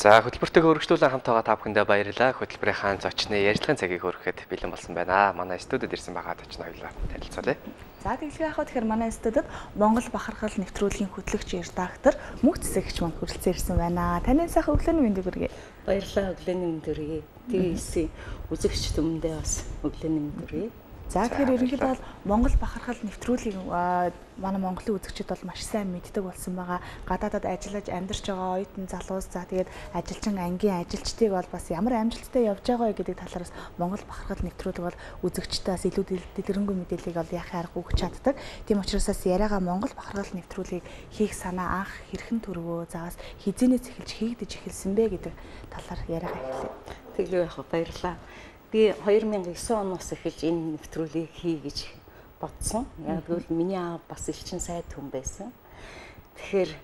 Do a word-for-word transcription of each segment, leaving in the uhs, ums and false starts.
За хөтөлбөртэйг өргөжлүүлэн хамт байгаа та бүхэндээ баярлалаа. Хөтөлбөрийн зочны ярилцлагын цагийг хөрөхэд бэлэн болсон байна. Манай студид ирсэн байгаа зочин хоёлаа танилцуулъя. За тэгэлгүй яхаа тэгэхээр манай студид Монгол Бахархал нэвтрүүлгийн хөтлөгч редактор Мөнх Цэцэгч манд хүрэлцэн ирсэн байна. Таны сайхан өглөөний мэндийг хүргэе. Баярлалаа, өглөөний мэнд хүргэе. ти ви эс-ийн үзэгч түмэндээ бас өглөөний мэнд хүргэе. За тэгэхээр ерөнхийдөө бол Монгол Бахархал нэвтрүүлгийг манай Монголын үзэгчид бол маш сайн мэддэг болсон байгаа. Гадаадад ажиллаж амьдарч байгаа оюутан залуус за тэгээд ажилчин ангийн ажилчдыг бол бас ямар амжилттай явж байгаа вэ гэдэг талаараас Монгол Бахархал нэвтрүүлэг бол үзэгчдээс илүү дэлгэрэнгүй мэдээллийг бол яхаа арга өгч чаддаг. Тийм учраас яриагаа Монгол Бахархал нэвтрүүлгийг хийх санаа анх хэрхэн төрвөө, за бас хизээнээс эхэлж хийгдэж эхэлсэн бэ гэдэг талаар яриагаа эхэллээ. Тэглүү яах вэ? Баярлалаа. Би хоёр мянган и девять оноос эхэлж энэ нэвтрүүлгийг хий гэж бодсон. Яг тэгвэл миний аав бас элчин сайд хүн байсан. Тэгэхээр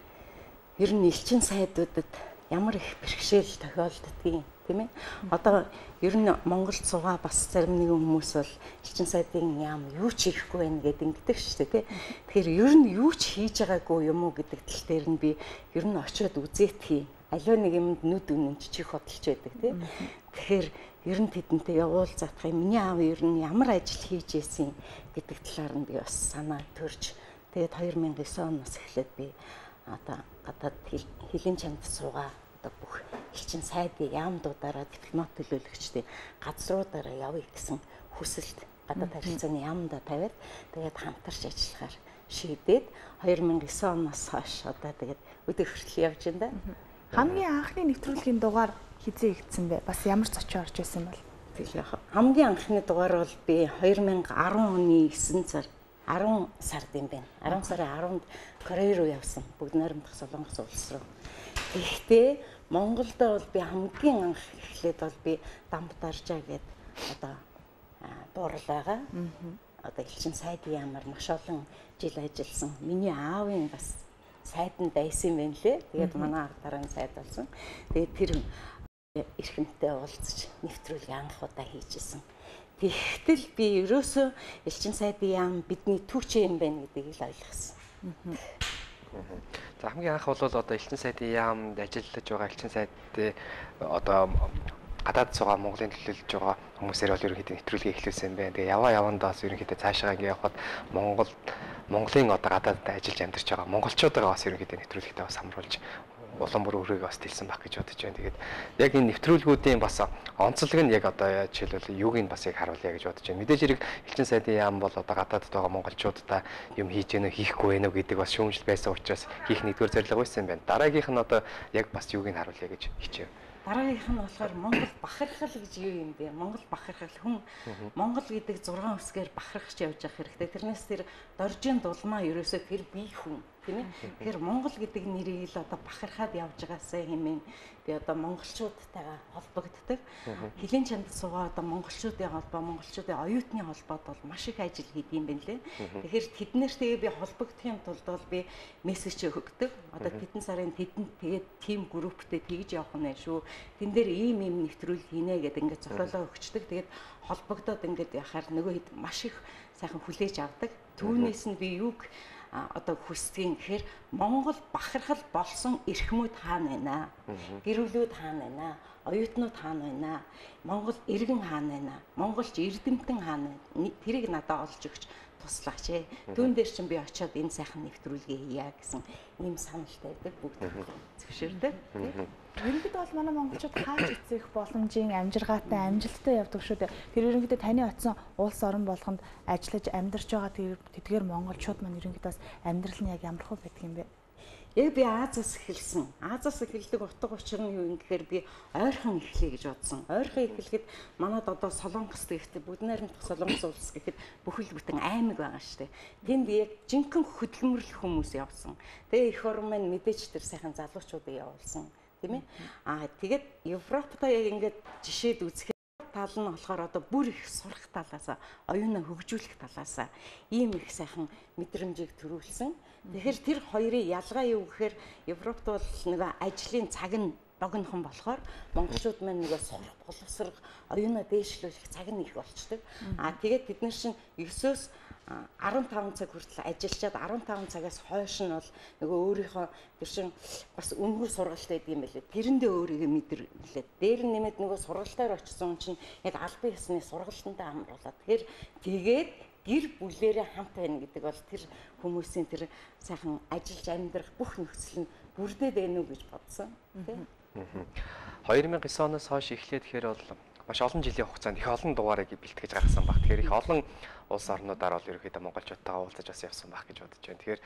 ер нь элчин сайдуудад ямар их бэрхшээл тохиолддгийг тийм ээ. Одоо ер нь Монголд суугаа бас зарим нэгэн хүмүүс бол элчин сайдын яам юу ч хийхгүй байх гэдэг ингэдэг шүү дээ тий. Тэгэхээр ер нь юу ч хийж байгаагүй юм уу гэдэг тал дээр нь би ер нь очиод үзээд хий. Аливаа нэг юмд нүд үнэн чих хөдөлж байдаг тий. Тэгэхээр ер нь тэдэнтэй явуулзах юм. Миний аав ер нь ямар ажил хийж ийсэн гэдэг талаар нь би бас санаа төрж тэгээд хоёр мянган и девять оноос эхлээд би одоо гадаад хилийн чамд суугаа одоо бүх элчин сайдын яамдуудаараа дипломат төлөөлөгчдийн газруудаараа явъя гэсэн хүсэлт гадаад харилцааны яамдаа тавиад тэгээд хамтарч ажиллахаар шийдээд хоёр мянган и девять оноос хойш одоо тэгээд өдөр хүртэл явж байна да. Хамгийн анхны нэвтрүүлгийн дугаар хизээ игдсэн бэ? Бас ямар зочин орж байсан бол? Тэгэл яах. Хамгийн анхны дугаар бол би хоёр мянган и десять оны эсрэг сар десять сард юм байна. десять сарын десянд Корей руу явсан. Бүгд найрамдах Солонгос улс руу. Гэхдээ Монголд бол би хамгийн анх эхлээд бол би Дамбтаржаа гээд одоо дуурал байгаа. Одоо элчин сайдын ямар маш олон жил ажилласан. Миний аавын бас сайданд дайсан юм байна лээ. Тэгээд манай арга дарааны сайд болсон. Тэгээд тэр эрхэмтэй уулзаж нэвтрүүлгийг анх удаа хийжсэн. Тэгтэл би ерөөсөө элчин сайдын яам бидний түүч юм байна гэдгийг л ойлгосон. За хамгийн анх бол одоо элчин сайдын яамд ажиллаж байгаа элчин сайдын одоо гадаад суугаа Монголын төлөөлж байгаа хүмүүсээр бол ерөнхийдөө нэвтрүүлгийг эхлүүлсэн юм байна. Тэгээ яваа явандаа бас ерөнхийдөө цаашаа ингэ явхад Монгол Монголын одоо гадаадд ажиллаж амьдарч байгаа монголчуудаа бас ерөнхийдөө нэвтрүүлэгтээ бас хамруулж улам бүр өрөөгөө бас дэлсэн баг гэж бодож байна. Тэгээд яг энэ нэвтрүүлгүүдийн бас онцлог нь яг одоо жишээлбэл юуг нь бас яг харуулъя гэж бодож байна. Мэдээж хэрэг элчин сайдын яам бол одоо гадаадд байгаа монголчуудаа юм хийж гэнэ хийхгүй байна уу гэдэг бас шүүмжил байсан учраас хийх нэгдүгээр зорилго байсан юм байна. Дараагийнх нь одоо яг бас юуг нь харуулъя гэж хичээв. Дараагийнх нь болохоор Монгол бахархал гэж юу юм бэ? Монгол бахархал хүн Монгол гэдэг зургаан үсгээр бахархаж явж явах хэрэгтэй. Тэрнээс тэр доржийн дулмаа ерөөсөө тэр бие хүн тийм ээ. Тэгэхээр Монгол гэдэг нэрийг л одоо бахархаад явж байгаасаа хэмээн би одоо монголчуудтайгаа холбогддог. Хилийн чанд суугаа одоо монголчуудын холбоо, монголчуудын оюутны холбоод бол маш их ажил хийдэг юм байна лээ. Тэгэхээр тэднэртэйгээ би холбогдохын тулд бол би мессеж өгдөг. Одоо тэдэн сарын тэдэнд тэгээд тим групптэй тэгж явах нь шүү. Тэн дээр ийм ийм нэвтрүүлэг хийнэ гэдэг ингээд зохиолоо өгчдөг. Тэгээд холбогдоод ингээд яхаар нөгөө хэд маш их сайхан хүлээж авдаг. Түүнээс нь би юг одоо хүсдгийг гэхээр Монгол бахархал болсон эрхмүүд хаана байна? Гэрүүлүүд хаана байна? Оюутнууд хаана байна? Монгол иргэн хаана байна? Монголч эрдэмтэн хаана байна? Тэрийг надад олж өгч туслаач ээ. Түүн дээр чинь би очиод энэ сайхан нэвтрүүлгээ хийя гэсэн ийм саналтай байдаг бүгд зөвшөөрдөг. Ерөнхийдөө бол манай монголчууд хааж эцэх боломжийн амжиргаатай амжилттай явдаг шүү дээ. Тэр ерөнхийдөө таны очисон улс орон болгонд ажиллаж амьдарч байгаа тэдгээр монголчууд маань ерөнхийдөө амьдрал нь яг ямар хөө байдаг юм бэ? Яг би Азаас эхэлсэн. Азаас эхэлдэг утга учир нь юу юм гэхээр би ойрхон эхлэе гэж бодсон. Ойрхон эхлэхэд манад одоо Солонгос гэхдээ бүгд найрамдах Солонгос улс гэхэд бүхэл бүтэн аймаг байгаа шүү дээ. Тэнд яг жинхэнэ хөдөлмөрлөх хүмүүс явсан. Тэгээ эх орн маань мэдээж тэр сайхан залуучуудыг явуулсан. Тийм ээ. Аа тэгээд Европтой яг ингээд жишээд үзэхэд тал нь болохоор одоо бүр их сурах талаасаа, оюунаа хөгжүүлэх талаасаа ийм их сайхан мэдрэмжийг төрүүлсэн. Тэгэхээр тэр хоёрын ялгаа юу гэхээр Европт бол нэг ажлын цаг нь богинохон болохоор монголчууд маань нөгөө сурах, боловсрох, оюунаа дээшлүүлэх цаг нь их болчдөг. Аа тэгээд бид нар чинь ерөөсөөс арван таван цаг хүртэл ажиллаад арван таван цагаас хойш нь бол нөгөө өөрийнхөө тэр чин бас үнэхэр сургалт байдаг юм байлээ. Тэрэндээ өөрийгөө мэдэрлээ. Дээр нь нэмээд нөгөө сургалтаар очсон чинь яг албан ёсны сургалтандаа амруулаад тэгэхээр тэгээд гэр бүлээрээ хамт байна гэдэг бол тэр хүмүүсийн тэр сайхан ажиллаж амьдрах бүх нөхцөл нь бүрдээд байна уу гэж бодсон тийм. хоёр мянга девять оноос хойш эхлээд тэгэхээр бол маш олон жилийн хугацаанд их олон дугаарыг бэлтгэж гаргасан баг. Тэгэхээр их олон улс орнуудаар бол ерөөхдөө монголчуудтайгаа уулзаж бас явсан баг гэж бодож байна. Тэгэхээр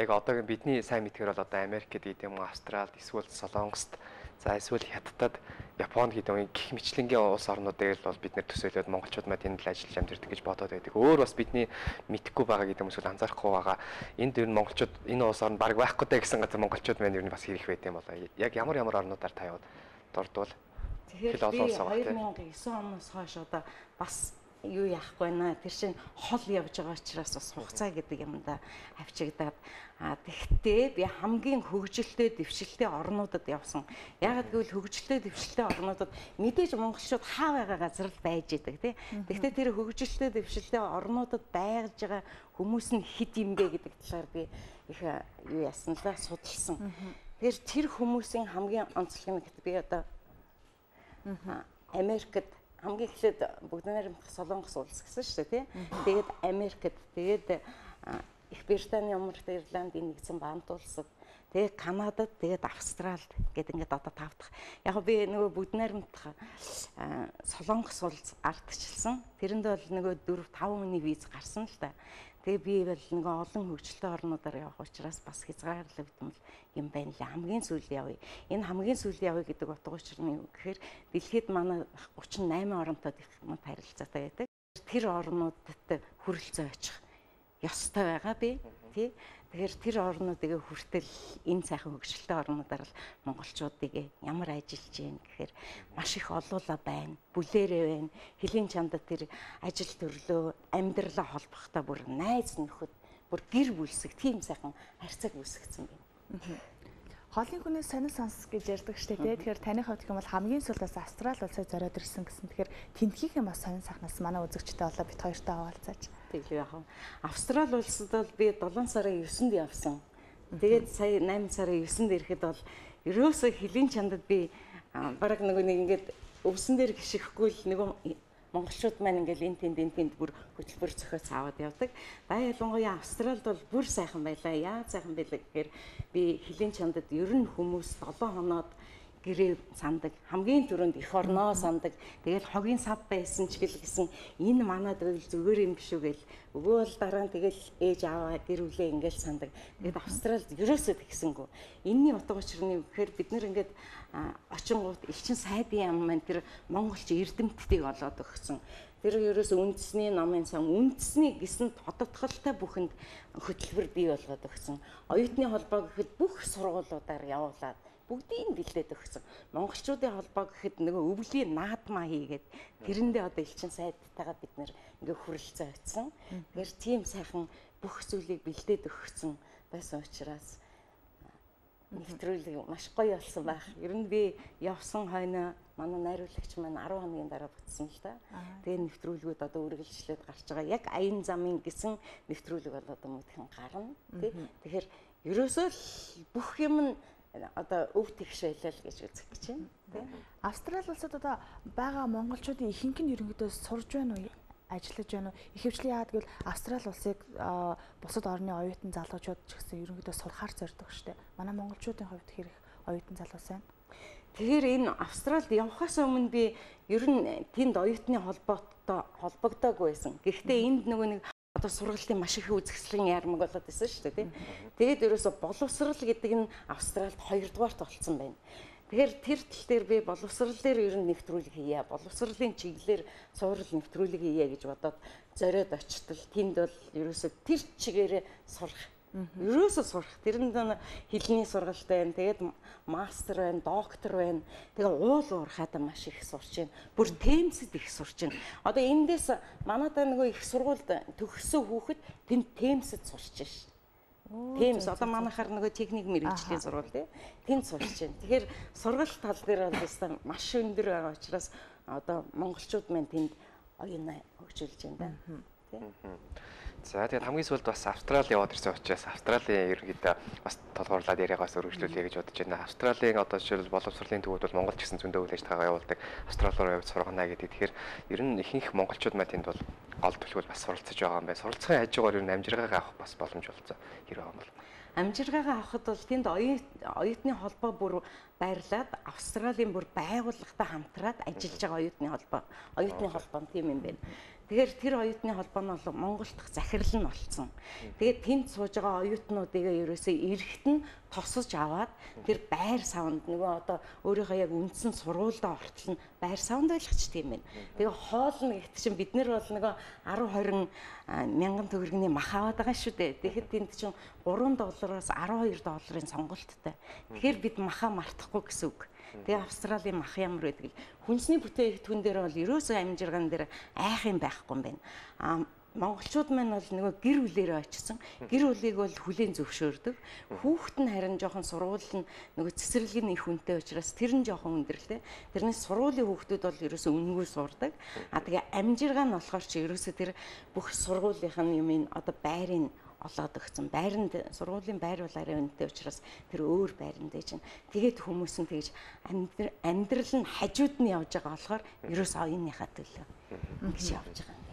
яг одоогийн бидний сайн мэдгээр бол одоо Америкт гэдэг юм уу, Австралид, эсвэл Солонгост, за эсвэл Хятадд, Японд гэдэг юм гих мэтлэнгийн улс орнуудыг л бол бид нэр төсөөлөөд монголчууд мад энд л ажиллаж амьдардаг гэж бодоод байдаг. Өөр бас бидний мэдхгүй байгаа гэдэг юм эсвэл анзаарахгүй байгаа. Энд ер нь монголчууд энэ улс орнд баг байхгүй даа гэсэн газар монголчууд маань ер нь бас хэрэг байт юм болоо. Яг ямар ямар орнуудаар та яваад дурдвал тэгэхээр би хоёр мянга девять оноос хойш одоо бас юу яахгүй наа тэр чинь хол явж байгаа учраас бас хугацаа гэдэг юмдаа авчигдаад а тэгтээ би хамгийн хөгжилтэй дэвшилтэй орнуудад явсан. Яагаад гэвэл хөгжилтэй дэвшилтэй орнуудад мэдээж монголчууд хаа байгаа газар л байж идэг тий. Тэгтээ тэр хөгжилтэй дэвшилтэй орнуудад байж байгаа хүмүүс нь хэд юм бэ гэдэг талаар би их юу яасан л да судалсан. Тэгэхээр тэр хүмүүсийн хамгийн онцлог нь би одоо Америкт хамгийн эхлээд бүгд найрамдах Солонгос улс гэсэн шүү дээ тий. Тэгээд Америкт, тэгээд Их Британий, Умарт, Ирландын нэгдсэн баамт улсад, тэгээд Канадад, тэгээд Австралид гэдэг ингээд одоо тав дахь. Яг би нөгөө бүгд найрамдах Солонгос улс ардчилсан. Тэрэнд бол нөгөө дөрв таван хүний виз гарсан л да. Тэгээ би бол нөгөө олон хөгжилтэй орнуудаар явах учраас бас хязгаарлагдсан юм байна лээ. Хамгийн сүүл явъя. Энэ хамгийн сүүл явъя гэдэг утга учир нь юу гэхээр дэлхийд манай гучин восемь оронтой дипломат харилцаатай байдаг. Тэр орнуудад хүрэлцээ очих ёстой байгаа би тий. Тэгэхээр тэр орнуудыг хүртэл энэ сайхан хөгжилтэй орнуудаар л монголчуудыг ямар ажиллаж гин гэхээр маш их олуула байна. Бүлээрээ байна. Хэлийн чамдаа тэр ажил төрлөө амьдралаа холбохдоо бүр найз нөхөд бүр гэр бүлсэг тийм сайхан харьцааг үүсгэсэн байна. Хоолын хүнээс сонир сонс гэж ярьдаг штэ тий. Тэгэхээр таны хувьд гэх юм бол хамгийн сүүлдээс Австрали улсыг зориод ирсэн гэсэн. Тэгэхээр тентгийнхэн бас сонир сайхнаас манай үзэгчтэй болоо бит хоёртой хаваалцаач. Тэглээ яах вэ? Австрали улсад бол би долоон сарын девятнд явсан. Тэгээд сая восемь сарын девятнд ирэхэд бол ерөөсөө хэлийн чандад би бараг нөгөө нэг ингээд өвсөн дээр гიშгэхгүй л нөгөө монголчууд маань ингээл энэ тэнд энэ тэнд бүр хөтөлбөр зохиоц аваад явдаг. Да ялангуяа Австралид бол бүр сайхан байлаа. Яа сайхан байлаа гэхээр би хэлийн чандад ер нь хүмүүс долоон хоноод гэрээ сандаг. Хамгийн түрүүнд эх орноо сандаг. Тэгэл хогийн сав байсан ч гэл гэсэн энэ манад бол зүгээр юм биш үү гэл өвөө бол дараа нь тэгэл ээж аваа гэр бүлээ ингээл сандаг. Тэгэд Австралид ерөөсөө тэгсэнгүү. Энийний утга учир нь гэхээр бид нэр ингээд очингууд элчин сайдын ам маань тэр монголч эрдэмтдийг олоод өгсөн. Тэр ерөөсөө үндэсний намын сан үндэсний гисэн тодотголтой бүхэнд хөтөлбөр бий болгоод өгсөн. Оюутны холбоо гэхэд бүх сургуулиудаар явуулаад бүгдийг бэлдээд өгсөн. Монголчуудын холбоо гэхэд нөгөө өвлийн наадмаа хийгээд тэрэндээ одоо элчин сайдтайгаа бид нэр ингээ хүрэлцээ очсон. Тэгэхээр тийм сайхан бүх зүйлийг бэлдээд өгсөн байсан учраас нэвтрүүлэг маш гоё болсон байх. Ер нь би явсан хойно манай найруулагч маань арван хоногийн дараа бүтсэн л да. Тэгээ нэвтрүүлгүүд одоо үргэлжлээд гарч байгаа. Яг аян замын гэсэн нэвтрүүлэг бол одоо мөдхөн гарна. Тий. Тэгэхээр ерөөсөө бүх юм нь одоо өв тэгшээлэл гэж үзэх гэж байна. Тий. Австрали улсад одоо байгаа монголчуудын ихэнх нь ерөнхийдөө сурж байна уу? Ажиллаж байна уу? Ихэвчлэн яагаад гэвэл Австрали улсыг бусад орны оюутан залуучууд ч гэсэн ерөнхийдөө сурахаар зорддог штеп. Манай монголчуудын хувьд хэрэг оюутан залуус байна. Тэгэхээр энэ Австралид явхаас өмнө би ер нь тэнд оюутны холбоотой холбогдоогүй байсан. Гэхдээ энд нөгөө нэг одоо сургалтын маш их үзэсгэлэн ярмаг болоод байсан шүү дээ. Тэгээд ерөөсө боловсрал гэдэг нь Австралид хоёрдугаарт болцсон байна. Тэгэхээр тэр тал дээр би боловсрал дээр ер нь нэвтрүүлэг хийе. Боловсролын чиглэлээр цуврал нэвтрүүлэг хийе гэж бодоод зориод очтол тэнд бол ерөөсө тэр чигээрээ сурах. Ерөөсө сурах. Тэрэнд хэлний сургалт байна. Тэгээд мастер байна, доктор байна. Тэгээ уул уурхаад маш их сурч байна. Бүр темсэд их сурч байна. Одоо эндээс манайдаа нөгөө их сургуульд төгссөн хүүхэд тэнд темсэд сурч байна. Тийм одоо манайхаар нөгөө техник мэрэгжлийн сургууль тий. Тэнд сурч байна. Тэгэхээр сургалт тал дээр бол өстой маш өндөр байгаа учраас одоо монголчууд маань тэнд оюунаа хөгжүүлж байна да. Тий. За тэгээд хамгийн сүүлд бас Австрали яваад ирсэн учраас Австралийн ерөнхийдөө бас толгуурлаад яриагаас өргөжлүүлье гэж бодож байна. Австралийн одоо жишээл боловсролын төвүүд бол Монгол ч гэсэн зөндөө үйл ажиллагаа явуулдаг. Австрали руу явж сургана гэдэг. Тэгэхээр ер нь ихэнх монголчууд маань тэнд бол гол төлөвлөл бас суралцж байгаа юм байна. Суралцахын хажуугаар ер нь амжиргаагаа авах бас боломж болцоо хэрэг байгаа юм бол. Амжиргаагаа авахд бол тэнд оюутны холбоо бүр байрлаад Австралийн бүр байгууллагатай хамтраад ажиллаж байгаа оюутны холбоо. Оюутны холбоо нь тийм юм байна. Тэгэхээр тэр оюутны холбоо нь бол Монгол дахь захирал нь болсон. Тэгээд тэнд сууж байгаа оюутнуудыг ерөөсөө эрэхт нь тосож аваад тэр байр савнд нөгөө одоо өөрийнхөө яг үндсэн сургуульдаа ортол нь байр савнд байлгач тийм байна. Тэгээ хоолно гэхдээ чинь бид нар бол нөгөө арав хорин мянган төгрөгийн мах аваад байгаа шүү дээ. Тэгэхэд тэнд чинь гурван доллараас арав хоёр долларын сонголттой. Тэгэхээр бид махаа мартахгүй гэсэн үг. Тэгээ Австралийн мах ямар байдаг л хүнсний бүтээгдэхүүн дээр бол ерөөсөө амжиргаан дээр айх юм байхгүй юм байна. Аа монголчууд маань бол нөгөө гэр бүлээрээ очсон. Гэр бүлийг бол хүлээн зөвшөөрдөг. Хүүхэд нь харин жоохон сургууль нь нөгөө цэцэрлэгийн их үнэтэй учраас тэр нь жоохон өндөрлөө. Тэрнээс сургуулийн хүүхдүүд бол ерөөсөө үнэгүй сурдаг. Аа тэгээ амжиргаан нь болохоор чи ерөөсөө тэр бүх сургуулийнх нь юм ин одоо байрын олоод өгсөн. Байранд сургуулийн байр бол арай үнэтэй учраас тэр өөр байранд чинь тэгээд хүмүүс нь тэгж амьдрал нь хажууд нь явж байгаа болохоор ерөөс оюуныхаа төлөө ингэж явж байгаа юм.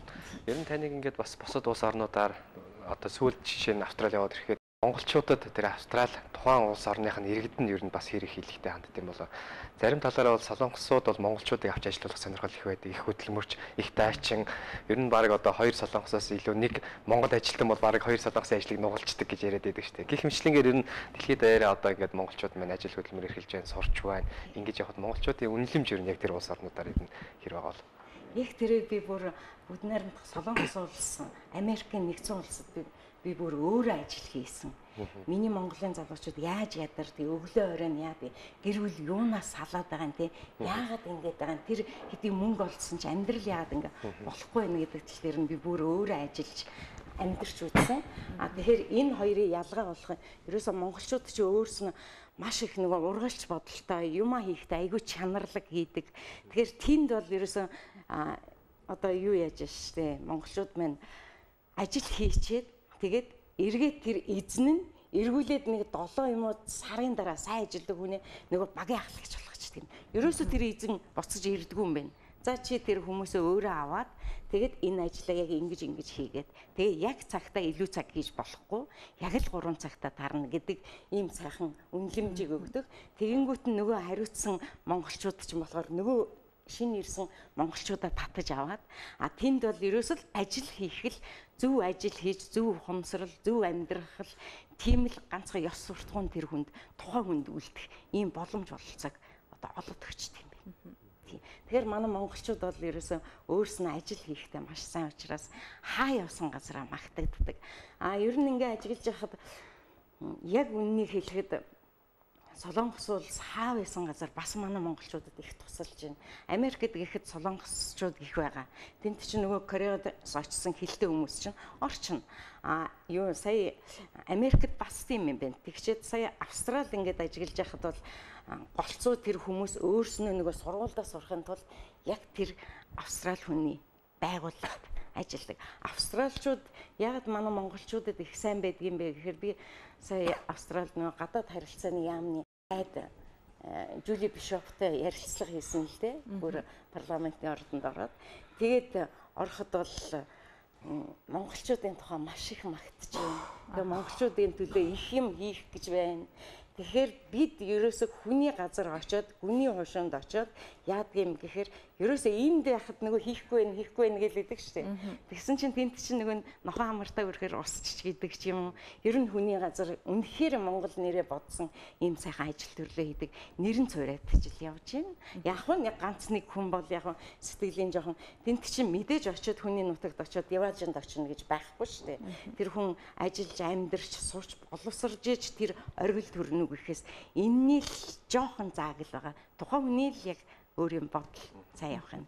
Ер нь таныг ингээд бас бусад улс орнуудаар одоо сүүлд жишээ нь Австрали яваад ирэхэд монголчуудад тэр Австрали тухайн улс орных нь иргэд нь ер нь бас хэрэг хийлэгтэй ханддаг юм болоо. Зарим талаараа бол солонгосууд бол монголчуудыг авч ажиллуулах сонирхол их байдаг. Их хөдөлмөрч, их дайчин. Ер нь баг одоо хоёр солонгосоос илүү нэг монгол ажилтан бол баг хоёр солонгосын ажлыг нугалцдаг гэж яриад байдаг шүү дээ. Гэх мэтлэнгээр ер нь дэлхийд даяараа одоо ингээд монголчууд маань ажил хөдөлмөр эрхэлж байна, сурч байна. Ингэж явахад монголчуудын үнэлэмж ер нь яг тэр улс орнуудаар ер нь хэр байгаа бол. Яг тэрийг би бүр бүгд найрамдах солонгос улс, Америкийн нэгдсэн улсад би би бүр өөрөө ажил хийсэн. Миний Монголын залуучууд яаж ядардаг, өглөө оройн яа би гэр бүл юунаас салаад байгаа юм те. Яагаад ингэж байгаа юм? Тэр хэдий мөнгө олдсон ч амьдрал яагаад ингэ болохгүй байна гэдэг тал дээр нь би бүр өөрөө ажиллаж амьдарч үзсэн. А тэгэхээр энэ хоёрын ялгаа болох юм. Ерөөсөө монголчууд ч өөрснөө маш их нэг ургалч бодолтой юмаа хийхдээ айгүй чанарлаг хийдэг. Тэгэхээр тэнд бол ерөөсөө одоо юу яаж штэ монголчууд маань ажил хийчээд тэгээд эргээд тэр эзэн нь эргүүлээд нэг долоо юм уу сарын дараа сайн ажилдаг хүнээ нөгөө багийн ахлагч болгочихдаг юм. Ерөөсөө тэр эзэн буцаж ирдэггүй юм байна. За чи тэр хүмүүсээ өөрөө аваад тэгээд энэ ажлаа яг ингэж ингэж хийгээд тэгээ яг цагтаа илүү цаг хийж болохгүй яг л гурван цагтаа тарна гэдэг ийм сайхан үнэлэмжийг өгдөг. Тэгэнгүүт нь нөгөө хариуцсан монголчууд ч юм болохоор нөгөө шинэ ирсэн монголчуудаа татаж аваад а тэнд бол ерөөсөл ажил хийх л зөв ажил хийж зөв ухамсарал зөв амьдрах л тийм л ганцхан ёс суртахуун тэр хүнд тухайн хүнд үлдэх ийм боломж бололцоог одоо олоод өгчт юм байна. Тэгэхээр манай монголчууд бол ерөөсөө өөрснөө ажил хийхдээ маш сайн учраас хаа явсан газараа магтагддаг. А ер нь ингээ ажиглаж байхад яг үннийг хэлэхэд Солонгос улс хаа байсан газар бас манай монголчуудад их тусалж байна. Америкт гэхэд солонгосчууд их байгаа. Тэнд чинь нөгөө Кореад очсон хилтэй хүмүүс чинь орчин. А юу сая Америкт бас тийм юм байна. Тэгчээд сая Австрали ингээд ажиглаж байхад бол голцоо тэр хүмүүс өөрснөө нөгөө сургуульдаа сурахын тулд яг тэр Австрали хүний байгууллагад ажилладаг. Австралчууд яг манай монголчуудад их сайн байдаг юм бэ гэхээр би сая Австралид нөгөө гадаад харилцааны яамны айд Жули Бишофтой ярилцлага хийсэн л дээ. Бүр парламентын ордонд ороод тэгээд ороход бол монголчуудын тухай маш их магтж байна. Тэгээ монголчуудын төлөө их юм хийх гэж байна. Тэгэхээр бид ерөөсөө хүний газар очиод, хүний хушуунд очиод яадаг юм гэхээр ерөөсөө энд яхад нөгөө хийхгүй байх, хийхгүй байх гэж хэлдэг шүү дээ. Тэгсэн чинь тэнд чинь нөгөө нохоо хамартаа өрхөр усч гэдэг ч юм уу. Ер нь хүний газар үнэхээр Монгол нэрээ бодсон ийм сайхан ажил төрлөө хийдэг. Нэрэн цураад ажил явж байна. Яг нь ганц нэг хүн бол яг сэтгэлийн жоохон тэнд чинь мэдээж очиод хүний нутагт очиод яваажинд очино гэж байхгүй шүү дээ. Тэр хүн ажиллаж амьдарч сурч боловсрж иж тэр оргил төрнө гэхээс энэний л жоохон зааг л байгаа. Тухайн хүний л яг өөр юм бодол цаа явах юм.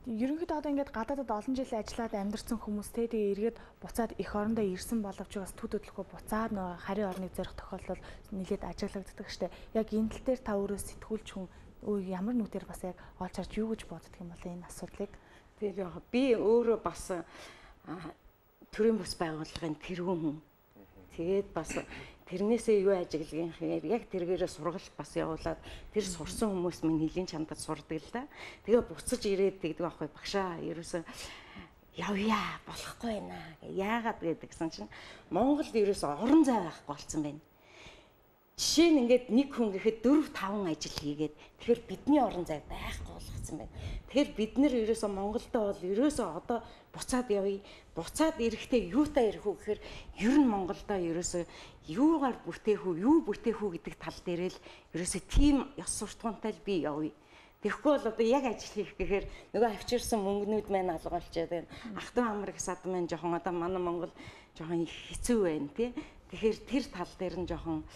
Ерөнхийдөө одоо ингээд гадаадад олон жил ажиллаад амьдарсан хүмүүс те тэгээ эргээд буцаад эх орондоо ирсэн боловч бас төд хөдлөхөө буцаад нөгөө харийн орныг зорих тохиолдол нэлээд ажиглагддаг штэ. Яг энэ тал дээр та өөрөө сэтгүүлч хүн өө ямар нүдээр бас яг олж харж юу гэж боддог юм бол энэ асуудлыг. Тэр яг би өөрөө бас төрийн бас байгууллагын тэргүүн хүн. Тэгээд бас тэрнээсээ юу ажиглах юм яг тэргээрээ сургалт бас явуулаад тэр сурсан хүмүүс минь нэлийн чамдад сурдаг л да. Тэгээ буцаж ирээд тэгдэг аахгүй багшаа ерөөсөө явъя болохгүй байна. Яагаад гэдгсэн чинь Монголд ерөөсөө орон зай байхгүй болсон байна. Жишээ нь ингээд нэг хүн гэхэд дөрв таван ажил хийгээд тэгэхээр бидний орон зай байхгүй болгоцсон байна. Тэгэхээр бид нэр ерөөсөө Монголдо бол ерөөсөө одоо буцаад явъя. Буцаад ирэхдээ юутай ирэх үү гэхээр ер нь Монголдо ерөөсөө юугаар бүтээх үү, юу бүтээх үү гэдэг тал дээр л ерөөсөө тийм ёс суртахуунтай л би явъя. Тэгэхгүй бол одоо яг ажил хийх гэхээр нөгөө авчирсан мөнгнүүд маань алгуулчаад байна. Ах トゥ амар их сад маань жоохон одоо манай Монгол жоохон хэцүү байна тий. Тэгэхээр тэр тал дээр нь жоохон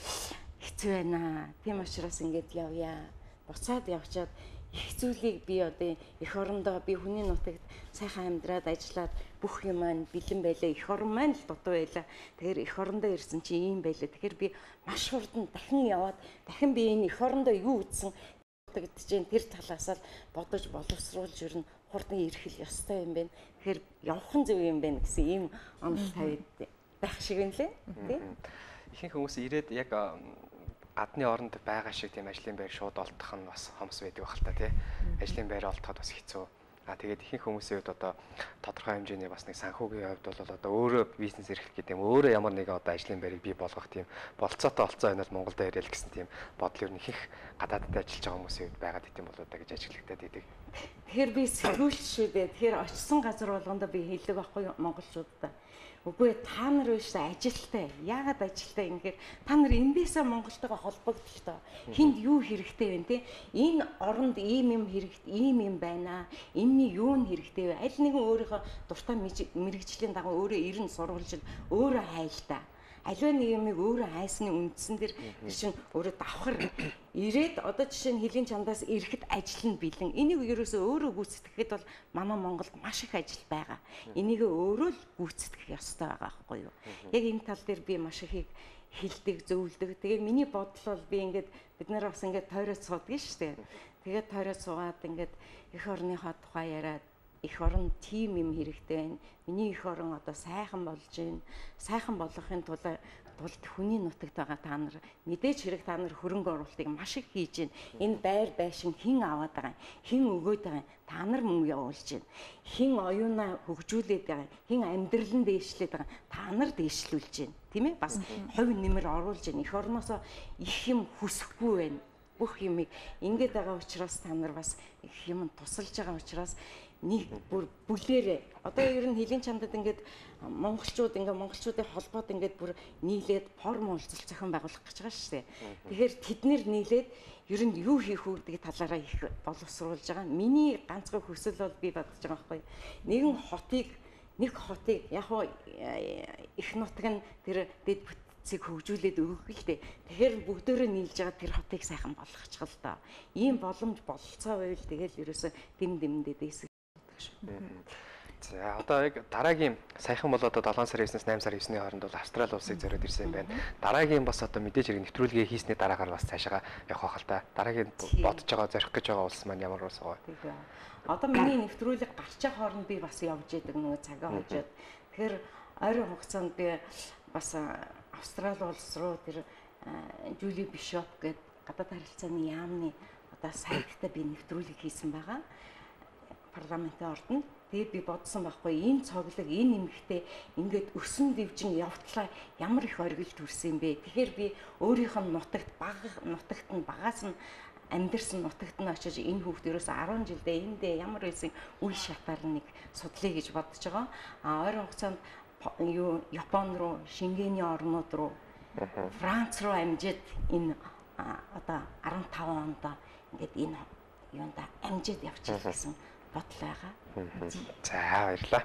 хэцүү байна. Тийм учраас ингэж явъя. Буцаад явчаад их зүйлийг би одоо эх орондоо би хүний нутагт сайхан амьдраад ажиллаад бүх юм маань бэлэн байлаа. Эх орон маань л дутуу байлаа. Тэгэхээр эх орондоо ирсэн чи ийм байлаа. Тэгэхээр би маш хурдан дахин яваад дахин би энэ эх орондоо юу үзсэн гэдэг чинь тэр талаас л бодож боловсруулж ирнэ. Хурдан ирэх л ёстой юм байна. Тэгэхээр явхан зөв юм байна гэсэн ийм онол тавиад байх шиг юм лээ. Тийм. Ихэнх хүмүүс ирээд яг гадны оронд байгаа шиг тийм ажлын байр шууд олдох нь бас хомс байдаг байх л та тий. Ажлын байр олдоход бас хэцүү. А тэгээд ихэнх хүмүүсийн хувьд одоо тодорхой хэмжээний бас нэг санхүүгийн хувьд бол одоо өөрөө бизнес эрхлэх гэдэг юм. Өөрөө ямар нэгэн одоо ажлын байрыг бий болгох тийм болцоотой олцоо байна л Монголд ирээл гэсэн тийм бодол ер нь ихэнх гадаадд ажиллаж байгаа хүмүүсийн хувьд байгаад идэм болоо да гэж ажиглагдаад идэг. Тэгэхээр би сэтгүүлч шүү дээ. Тэгэхээр очсон газар болгондоо би хэлдэг байхгүй монголчуудад. Үгүй та нар биш ажилтай. Яагаад ажилтай юм гэхээр та нар эндээсээ Монголтойгоо холбогдлоо. Хинд юу хэрэгтэй вэ те? Энэ оронд ийм юм хэрэгтэй, ийм юм байна. Энэний юу нь хэрэгтэй вэ? Аль нэгэн өөрийнхөө дуртай мэрэгжлийн дагуу өөрөө ирэн сурвалж өөрөө хайлтаа. Аливаа нэг юмыг өөрөө хайсны үндсэн дээр чинь өөрөө давхар ирээд одоо жишээ нь хэлийн чандаас ирэхэд ажил нь бэлэн. Энийг ерөөсөө өөрөө гүйцэтгэхэд бол манай Монголд маш их ажил байгаа. Энийг өөрөө л гүйцэтгэх ёстой байгаа байхгүй юу? Яг энэ тал дээр би маш их хэлдэг, зөвлөдөг. Тэгээ миний бодол бол би ингээд бид нар бас ингээд тойроод суудаг шүү дээ. Тэгээд тойроод суугаад ингээд эх орныхоо тухай яриад эх орон тим юм хэрэгтэй байна. Миний эх орон одоо сайхан болж байна. Сайхан болгохын тулд тулд хүний нутагт байгаа та нар мэдээж хэрэг та нар хөрөнгө оруулалтыг маш их хийж байна. Энэ байр байшин хэн аваад байгаа юм? Хэн өгөөд байгаа юм? Та нар мөнгө явуулж байна. Хэн оюунаа хөгжүүлээд байгаа юм? Хэн амьдралын дээшлээд байгаа юм? Та нар дээшлүүлж байна. Тийм ээ? Бас хувь нэмэр оруулж байна. Эх орноосоо их юм хүсэхгүй байна. Бүх юмыг ингэж байгаа учраас та нар бас их юм тусалж байгаа учраас нэг бүр бүлээрээ одоо ер нь хэлийн чамдад ингээд монголчууд ингээд монголчуудын холбоод ингээд бүр нийлээд форум уулзалт зохион байгуулах гэж байгаа шүү дээ. Тэгэхээр тэд нэр нийлээд ер нь юу хийх үү гэдэг талаараа их боловсруулж байгаа. Миний ганцхан хүсэл бол би бодож байгаа байхгүй. Нэгэн хотыг нэг хотыг яг хоо их нутаг нь тэр дэд цэг хөгжүүлээд өгөх л дээ. Тэгэхээр бүгдөө нийлж байгаа тэр хотыг сайхан болгочих л доо. Ийм боломж бололцоо байвал тэгэл ерөөсө дэм дэмдээ дэсэх. За одоо яг дараагийн саяхан бол одоо долоон сарын девятнээс найман сарын девятний хооронд бол Австрали улсыг зориод ирсэн юм байна. Дараагийн бас одоо мэдээж хэрэг нэвтрүүлгээ хийсний дараагаар бас цаашаа явах хэл та. Дараагийн бодож байгаа зорих гэж байгаа улс маань ямар улс вэ? Тийм. Одоо миний нэвтрүүлэг гарчаа хооронд би бас явж идэг нөгөө цагаа хожоод. Тэгэхээр ойрын хугацаанд би бас Австрали улс руу тэр Жули Бишоп гэдэг гадаад харилцааны яамны одоо сайттай би нэвтрүүлэг хийсэн байгаа. Парламентын ордонд. Тэгээд би бодсон байхгүй энэ цоглог энэ нэмэгтэй ингээд өсөн дэвжин явтлаа ямар их оргил төрсөн юм бэ. Тэгэхээр би өөрийнх нь нутагт бага нутагт нь багаас нь амьдэрсэн нутагт нь очиж энэ хүүхд ерөөсө арван жилдээ эндээ ямар байсан үе шатаар нэг судлаа гэж бодож байгаа. А ойрын хугацаанд юу Япон руу, Шенгений орнууд руу, Франц руу амжиж энэ одоо арван таван онд ингээд энэ юунда амжиж явчих гэсэн бодол байгаа. За баярлалаа.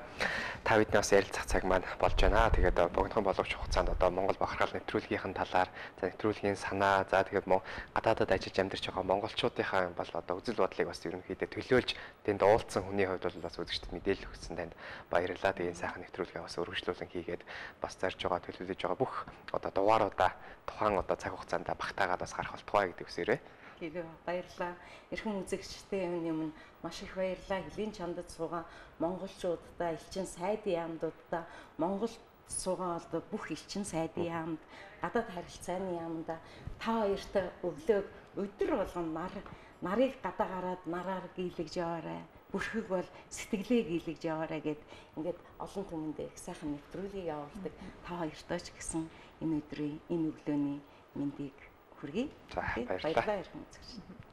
Та бидний бас ярилцах цаг маань болж байна. Тэгээд богинохон боловч хугацаанд одоо Монгол бахархал нэвтрүүлгийнхэн талаар, за нэвтрүүлгийн санаа, за тэгээд гадаадад ажиллаж амьдарч байгаа монголчуудынхаа бол одоо үзэл бодлыг бас ерөнхийдөө төлөөлж тэнд уулзсан хүний хувьд бол бас үзэгчдэд мэдээлэл өгсөн танд баярлалаа. Тэгээд сайхан нэвтрүүлгээ бас өргөжлүүлэн хийгээд бас зарж байгаа төлөвлөж байгаа бүх одоо дугааруудаа тухайн одоо цаг хугацаанд багтаагаад бас гарах болтугай гэдэг үсээрээ. Гэрээ баярлаа. Эрхэм үзэгчтэй юм маш их баярлаа. Хөлийн чандад суугаа монголчуудаа, элчин сайдын яамдуудаа, Монголд суугаа бол бүх элчин сайдын яамд, гадаад харилцааны яамда та хоёрт өглөөг өдөр болгон нар нарыг гадаа гараад нараар гийлгэж яваарай. Бүрхэг бол сэтгэлээ гийлгэж яваарай гэд ингээд олон түмэнд их сайхан нэвтрүүлгийг явуулдаг. Та хоёртоо ч гэсэн энэ өдрийн энэ өглөөний мэндийг хүргэе. За баярлалаа.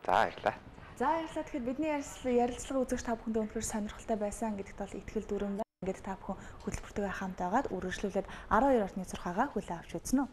За баярлалаа. За баярлалаа. Тэгэхээр бидний ярилцлага үзэгч та бүхэндээ өнөхөр сонирхолтой байсан гэдэгт бол итгэл дүрэм байна. Ингээд та бүхэн хөтөлбөртөө хамт байгаад үргэлжлүүлээд арван хоёр орны зурхаагаа хүлээн авч үзсэн үү?